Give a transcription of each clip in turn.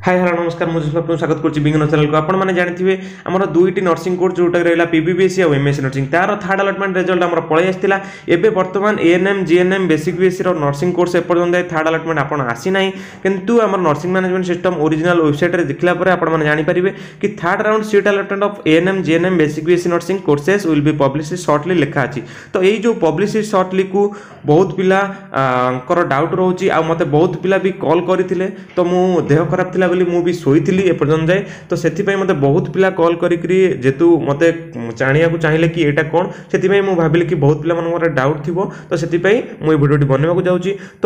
High, hello, ନମସ୍କାର। ମୁଁ ଆପଣଙ୍କୁ ସ୍ୱାଗତ କରୁଛି ବିଜ୍ଞାନ ଚ୍ୟାନେଲକୁ। ଆପଣମାନେ ଜାଣିଥିବେ, ଆମର ଦୁଇଟି ନର୍ସିଂ କୋର୍ସ ଯେଉଁଟା ରହିଲା ପିବିବିଏସ୍ସି ଆଉ ଏମ୍ଏସ୍ସି ନର୍ସିଂ, ତାର ଥାର୍ଡ଼ ଆଲଟମେଣ୍ଟ ରେଜଲ୍ଟ ଆମର ପଳେଇ ଆସିଥିଲା। ଏବେ ବର୍ତ୍ତମାନ ଏଏନ୍ଏମ୍, ଜିଏନ୍ଏମ୍, ବେସିକ୍ ବିଏସ୍ସିର ନର୍ସିଂ କୋର୍ସ ଏପର୍ଯ୍ୟନ୍ତ ଥାର୍ଡ଼ ଆଲଟମେଣ୍ଟ ଆପଣ ଆସିନାହିଁ। କିନ୍ତୁ ଆମର ନର୍ସିଂ ମ୍ୟାନେଜମେଣ୍ଟ ସିଷ୍ଟମ୍ ଓରିଜିନାଲ ୱେବସାଇଟ୍ରେ ଦେଖିଲା ପରେ ଆପଣମାନେ ଜାଣିପାରିବେ କି "Third round seat allotment of ANM, GNM, Basic BSc Nursing courses will be publish shortly" ଲେଖା ଅଛି। ତ ଏଇ ଯେଉଁ ପବ୍ଲିଶ ସର୍ଟଲିକୁ ବହୁତ ପିଲାଙ୍କର ଡାଉଟ୍ ରହୁଛି ଆଉ ମୋତେ ବହୁତ ପିଲା ବି କଲ୍ କରିଥିଲେ। ତ ମୁଁ ଦେହ ଖରାପ ଥିଲା ବୋଲି ମୁଁ ବି ଶୋଇଥିଲି ଏପର୍ଯ୍ୟନ୍ତ ଯାଏ। ତ ସେଥିପାଇଁ ମୋତେ ବହୁତ ପିଲା କଲ୍ କରିକିରି ଯେହେତୁ ମୋତେ ଜାଣିବାକୁ ଚାହିଁଲେ କି ଏଇଟା କ'ଣ, ସେଥିପାଇଁ ମୁଁ ଭାବିଲି କି ବହୁତ ପିଲାମାନଙ୍କର ଡାଉଟ୍ ଥିବ। ତ ସେଥିପାଇଁ ମୁଁ ଏଇ ଭିଡ଼ିଓଟି ବନେଇବାକୁ ଯାଉଛି। ତ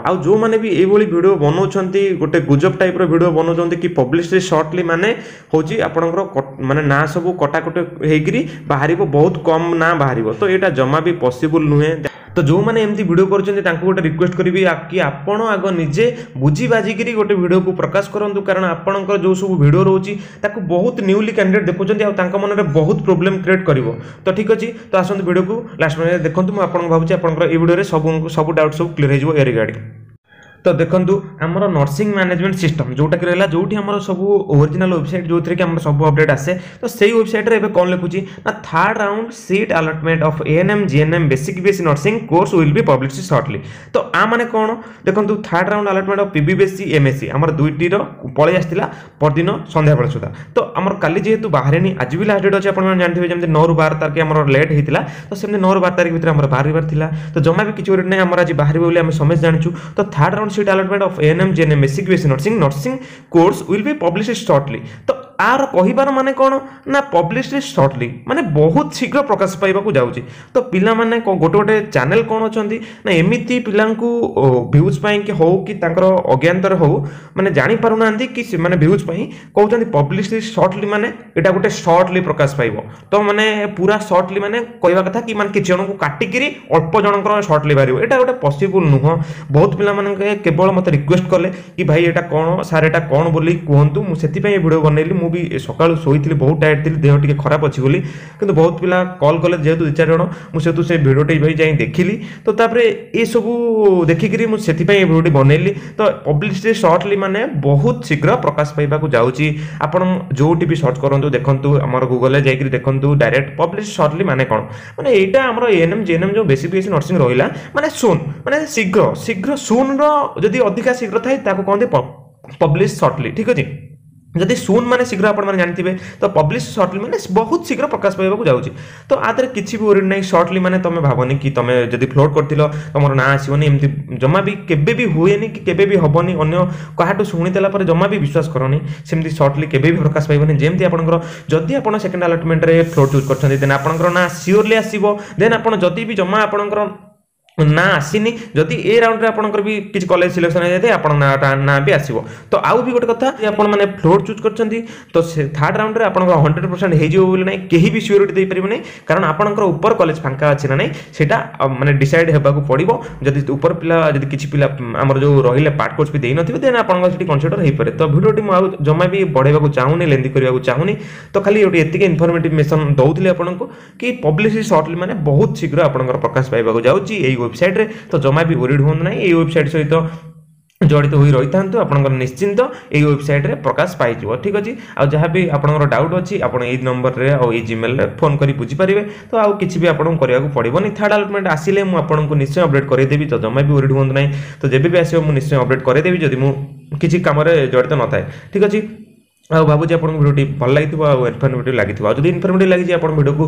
ଆଉ ଯେଉଁମାନେ ବି ଏଇଭଳି ଭିଡ଼ିଓ ବନାଉଛନ୍ତି, ଗୋଟେ ଗୁଜବ ଟାଇପ୍ର ଭିଡ଼ିଓ ବନାଉଛନ୍ତି କି ପବ୍ଲିଶ ସର୍ଟଲି ମାନେ ହେଉଛି ଆପଣଙ୍କର ମାନେ ନାଁ ସବୁ କଟାକଟି ହେଇକିରି ବାହାରିବ, ବହୁତ କମ୍ ନାଁ ବାହାରିବ, ତ ଏଇଟା ଜମା ବି ପସିବୁଲ୍ ନୁହେଁ। ତ ଯେଉଁମାନେ ଏମିତି ଭିଡ଼ିଓ କରୁଛନ୍ତି, ତାଙ୍କୁ ଗୋଟେ ରିକ୍ୱେଷ୍ଟ କରିବି କି ଆପଣ ଆଗ ନିଜେ ବୁଝି ବାଜିକିରି ଗୋଟେ ଭିଡ଼ିଓକୁ ପ୍ରକାଶ କରନ୍ତୁ, କାରଣ ଆପଣଙ୍କର ଯେଉଁ ସବୁ ଭିଡ଼ିଓ ରହୁଛି, ତାକୁ ବହୁତ ନ୍ୟୁଲି କ୍ୟାଣ୍ଡିଡେଟ୍ ଦେଖୁଛନ୍ତି ଆଉ ତାଙ୍କ ମନରେ ବହୁତ ପ୍ରୋବ୍ଲେମ୍ କ୍ରିଏଟ୍ କରିବ। ତ ଠିକ୍ ଅଛି, ତ ଆସନ୍ତୁ, ଭିଡ଼ିଓକୁ ଲାଷ୍ଟ ପର୍ଯ୍ୟନ୍ତ ଦେଖନ୍ତୁ। ମୁଁ ଆପଣଙ୍କୁ ଭାବୁଛି, ଆପଣଙ୍କର ଏଇ ଭିଡ଼ିଓରେ ସବୁ ସବୁ ଡାଉଟ୍ ସବୁ କ୍ଲିୟର ହେଇଯିବ ଏ ରିଗାର୍ଡ଼ିଂ। ତ ଦେଖନ୍ତୁ, ଆମର ନର୍ସିଂ ମ୍ୟାନେଜମେଣ୍ଟ ସିଷ୍ଟମ୍ ଯେଉଁଟାକି ରହିଲା, ଯେଉଁଠି ଆମର ସବୁ ଓରିଜିନାଲ ୱେବସାଇଟ୍, ଯେଉଁଥିରେ କି ଆମର ସବୁ ଅପଡେଟ୍ ଆସେ, ତ ସେଇ ୱେବସାଇଟ୍ରେ ଏବେ କ'ଣ ଲେଖୁଛି ନା "Third round seat allotment of ANM, GNM, Basic BSc Nursing course will be publish shortly"। ତ ଆ ମାନେ କ'ଣ? ଦେଖନ୍ତୁ, third round allotment of PBBSc, MSc ଆମର ଦୁଇଟିର ପଳେଇ ଆସିଥିଲା ପରଦିନ ସନ୍ଧ୍ୟାବେଳ ସୁଦ୍ଧା। ତ ଆମର କାଲି ଯେହେତୁ ବାହାରିନି, ଆଜି ବି ଲାଷ୍ଟ ଡେଟ୍ ଅଛି। ଆପଣମାନେ ଜାଣିଥିବେ, ଯେମିତି 9ରୁ 12 ତାରିଖ ଆମର ଲେଟ୍ ହେଇଥିଲା, ତ ସେମିତି 9ରୁ 12 ତାରିଖ ଭିତରେ ଆମର ବାହାରିବାର ଥିଲା। ତ ଜମା ବି କିଛି ଗୋଟେ ନାହିଁ, ଆମର ଆଜି ବାହାରିବ ବୋଲି ଆମେ ସମସ୍ତେ ଜାଣିଛୁ। ତ "Third round seat allotment of ANM, GNM, Basic BSc Nursing course will be publish shortly"। ତ ଆର କହିବାର ମାନେ କ'ଣ ନା ପବ୍ଲିଶ ସର୍ଟଲି ମାନେ ବହୁତ ଶୀଘ୍ର ପ୍ରକାଶ ପାଇବାକୁ ଯାଉଛି। ତ ପିଲାମାନେ ଗୋଟେ ଗୋଟେ ଚ୍ୟାନେଲ୍ କ'ଣ ଅଛନ୍ତି ନା ଏମିତି ପିଲାଙ୍କୁ ଭ୍ୟୁଜ୍ ପାଇଁ କି ହଉ କି ତାଙ୍କର ଅଜ୍ଞାତରେ ହଉ, ମାନେ ଜାଣିପାରୁନାହାନ୍ତି କି ସେମାନେ ଭ୍ୟୁଜ୍ ପାଇଁ କହୁଛନ୍ତି ପବ୍ଲିଶ ସର୍ଟଲି ମାନେ ଏଇଟା ଗୋଟେ ସର୍ଟଲି ପ୍ରକାଶ ପାଇବ। ତ ମାନେ ପୁରା ସର୍ଟଲି ମାନେ କହିବା କଥା କି ମାନେ କିଛି ଜଣଙ୍କୁ କାଟିକିରି ଅଳ୍ପ ଜଣଙ୍କର ସର୍ଟଲି ବାହାରିବ। ଏଇଟା ଗୋଟେ ପସିବୁଲ୍ ନୁହଁ। ବହୁତ ପିଲାମାନଙ୍କ କେବଳ ମୋତେ ରିକ୍ୱେଷ୍ଟ କଲେ କି ଭାଇ, ଏଇଟା କ'ଣ ସାର୍, ଏଇଟା କ'ଣ ବୋଲି କୁହନ୍ତୁ। ମୁଁ ସେଥିପାଇଁ ଏ ଭିଡ଼ିଓ ବନେଇଲି। ମୁଁ ବି ସକାଳୁ ଶୋଇଥିଲି, ବହୁତ ଟାୟାର୍ଡ ଥିଲି, ଦେହ ଟିକେ ଖରାପ ଅଛି ବୋଲି। କିନ୍ତୁ ବହୁତ ପିଲା କଲ୍ କଲେ ଯେହେତୁ ଦୁଇ ଚାରି ଜଣ, ମୁଁ ସେହେତୁ ସେ ଭିଡ଼ିଓଟି ଭାଇ ଯାଇ ଦେଖିଲି। ତ ତାପରେ ଏସବୁ ଦେଖିକିରି ମୁଁ ସେଥିପାଇଁ ଏ ଭିଡ଼ିଓଟି ବନେଇଲି। ତ ପବ୍ଲିଶ ସର୍ଟଲି ମାନେ ବହୁତ ଶୀଘ୍ର ପ୍ରକାଶ ପାଇବାକୁ ଯାଉଛି। ଆପଣ ଯେଉଁଠି ବି ସର୍ଚ୍ଚ କରନ୍ତୁ, ଦେଖନ୍ତୁ, ଆମର ଗୁଗଲରେ ଯାଇକରି ଦେଖନ୍ତୁ ଡାଇରେକ୍ଟ ପବ୍ଲିଶ ସର୍ଟଲି ମାନେ କ'ଣ। ମାନେ ଏଇଟା ଆମର ଏଏନ୍ଏମ୍, ଜିଏନ୍ଏମ୍ ଯେଉଁ ବେସିକ୍ ବିଏସ୍ସି ନର୍ସିଂ ରହିଲା, ମାନେ ସୁନ୍ ମାନେ ଶୀଘ୍ର ଶୀଘ୍ର। ସୁନ୍ର ଯଦି ଅଧିକା ଶୀଘ୍ର ଥାଏ, ତାକୁ କହନ୍ତି ପବ୍ଲିଶ ସର୍ଟଲି। ଠିକ୍ ଅଛି? ଯଦି ସୁନ୍ ମାନେ ଶୀଘ୍ର ଆପଣମାନେ ଜାଣିଥିବେ, ତ ପବ୍ଲିଶ ସର୍ଟଲି ମାନେ ବହୁତ ଶୀଘ୍ର ପ୍ରକାଶ ପାଇବାକୁ ଯାଉଛି। ତ ଆ ଦେହରେ କିଛି ବି ୱରିଡ୍ ନାହିଁ। ସର୍ଟଲି ମାନେ ତମେ ଭାବନି କି ତମେ ଯଦି ଫ୍ଲୋଟ୍ କରିଥିଲ, ତମର ନାଁ ଆସିବନି। ଏମିତି ଜମା ବି କେବେ ବି ହୁଏନି କି କେବେ ବି ହେବନି। ଅନ୍ୟ କାହାଠୁ ଶୁଣିଦେଲା ପରେ ଜମା ବି ବିଶ୍ୱାସ କରନି। ସେମିତି ସର୍ଟଲି କେବେ ବି ପ୍ରକାଶ ପାଇବନି। ଯେମିତି ଆପଣଙ୍କର ଯଦି ଆପଣ ସେକେଣ୍ଡ ଆଲଟମେଣ୍ଟରେ ଫ୍ଲୋଟ୍ ଚୁଜ୍ କରିଛନ୍ତି, ଦେନ୍ ଆପଣଙ୍କର ନାଁ ସିଓରଲି ଆସିବ। ଦେନ୍ ଆପଣ ଯଦି ବି ଜମା ଆପଣଙ୍କର ନା ଆସିନି, ଯଦି ଏ ରାଉଣ୍ଡରେ ଆପଣଙ୍କର ବି କିଛି କଲେଜ ସିଲେକ୍ସନ୍ ହେଇଯାଇଥାଏ, ଆପଣଙ୍କ ନାଁଟା ନାଁ ବି ଆସିବ। ତ ଆଉ ବି ଗୋଟେ କଥା, ଆପଣ ମାନେ ଫ୍ଲୋଟ୍ ଚୁଜ୍ କରିଛନ୍ତି, ତ ସେ ଥାର୍ଡ଼ ରାଉଣ୍ଡରେ ଆପଣଙ୍କର 100% ହେଇଯିବ ବୋଲି ନାହିଁ, କେହି ବି ସିଓରିଟି ଦେଇପାରିବେ ନାହିଁ। କାରଣ ଆପଣଙ୍କର ଉପର କଲେଜ ଫାଙ୍କା ଅଛି ନା ନାହିଁ, ସେଇଟା ମାନେ ଡିସାଇଡ୍ ହେବାକୁ ପଡ଼ିବ। ଯଦି ଉପର ପିଲା, ଯଦି କିଛି ପିଲା ଆମର ଯେଉଁ ରହିଲେ ପାର୍ଟ କୋର୍ସ ବି ଦେଇନଥିବେ, ଦେନ୍ ଆପଣଙ୍କ ସେଠି କନସିଡର ହେଇପାରେ। ତ ଭିଡ଼ିଓଟି ମୁଁ ଆଉ ଜମା ବି ବଢ଼େଇବାକୁ ଚାହୁଁନି, ଲେନ୍ଥି କରିବାକୁ ଚାହୁଁନି। ତ ଖାଲି ଗୋଟେ ଏତିକି ଇନଫର୍ମେଟିଭ୍ ମେସନ୍ ଦେଉଥିଲି ଆପଣଙ୍କୁ କି ପବ୍ଲିଶ ସର୍ଟଲି ମାନେ ବହୁତ ଶୀଘ୍ର ଆପଣଙ୍କର ପ୍ରକାଶ ପାଇବାକୁ ଯାଉଛି ଏଇ ୱେବସାଇଟ୍ରେ। ତ ଜମା ବି ୱରିଡ୍ ହୁଅନ୍ତୁ ନାହିଁ। ଏଇ ୱେବସାଇଟ୍ ସହିତ ଜଡ଼ିତ ହୋଇ ରହିଥାନ୍ତୁ, ଆପଣଙ୍କର ନିଶ୍ଚିନ୍ତ ଏଇ ୱେବସାଇଟ୍ରେ ପ୍ରକାଶ ପାଇଯିବ। ଠିକ୍ ଅଛି? ଆଉ ଯାହା ବି ଆପଣଙ୍କର ଡାଉଟ୍ ଅଛି, ଆପଣ ଏଇ ନମ୍ବରରେ ଆଉ ଏଇ ଜିମେଲରେ ଫୋନ୍ କରି ବୁଝିପାରିବେ। ତ ଆଉ କିଛି ବି ଆପଣଙ୍କୁ କରିବାକୁ ପଡ଼ିବନି। ଥାର୍ଡ଼ ଆଲଟମେଣ୍ଟ ଆସିଲେ ମୁଁ ଆପଣଙ୍କୁ ନିଶ୍ଚୟ ଅପଡେଟ୍ କରିଦେବି। ତ ଜମା ବି ୱରିଡ୍ ହୁଅନ୍ତୁ ନାହିଁ। ତ ଯେବେ ବି ଆସିବ, ମୁଁ ନିଶ୍ଚୟ ଅପଡେଟ୍ କରିଦେବି, ଯଦି ମୁଁ କିଛି କାମରେ ଜଡ଼ିତ ନଥାଏ। ଠିକ୍ ଅଛି? ଆଉ ଭାବୁଛି ଆପଣଙ୍କୁ ଭିଡ଼ିଓଟି ଭଲ ଲାଗିଥିବ ଆଉ ଇନଫର୍ମେଟିଭ୍ ଲାଗିଥିବ। ଆଉ ଯଦି ଇନଫର୍ମେଟିଭ୍ ଲାଗିଛି, ଆପଣ ଭିଡ଼ିଓକୁ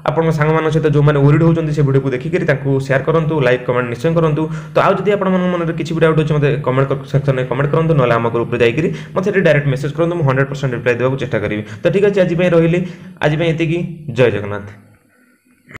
ଆପଣଙ୍କ ସାଙ୍ଗମାନଙ୍କ ସହିତ ଯେଉଁମାନେ ୱରିଡ୍ ହେଉଛନ୍ତି, ସେ ଭିଡ଼ିଓକୁ ଦେଖିକରି ତାଙ୍କୁ ସେୟାର କରନ୍ତୁ, ଲାଇକ୍, କମେଣ୍ଟ ନିଶ୍ଚୟ କରନ୍ତୁ। ତ ଆଉ ଯଦି ଆପଣମାନଙ୍କ ମନରେ କିଛି ବି ଡାଉଟ୍ ଅଛି, ମୋତେ କମେଣ୍ଟ ସେକ୍ସନରେ କମେଣ୍ଟ କରନ୍ତୁ, ନହେଲେ ଆମ ଗ୍ରୁପରେ ଯାଇକରି ମୋତେ ସେଠି ଡାଇରେକ୍ଟ ମେସେଜ୍ କରନ୍ତୁ। ମୁଁ 100% ରିପ୍ଲାଏ ଦେବାକୁ ଚେଷ୍ଟା କରିବି। ତ ଠିକ୍ ଅଛି, ଆଜି ପାଇଁ ରହିଲି। ଆଜି ପାଇଁ ଏତିକି। ଜୟ ଜଗନ୍ନାଥ।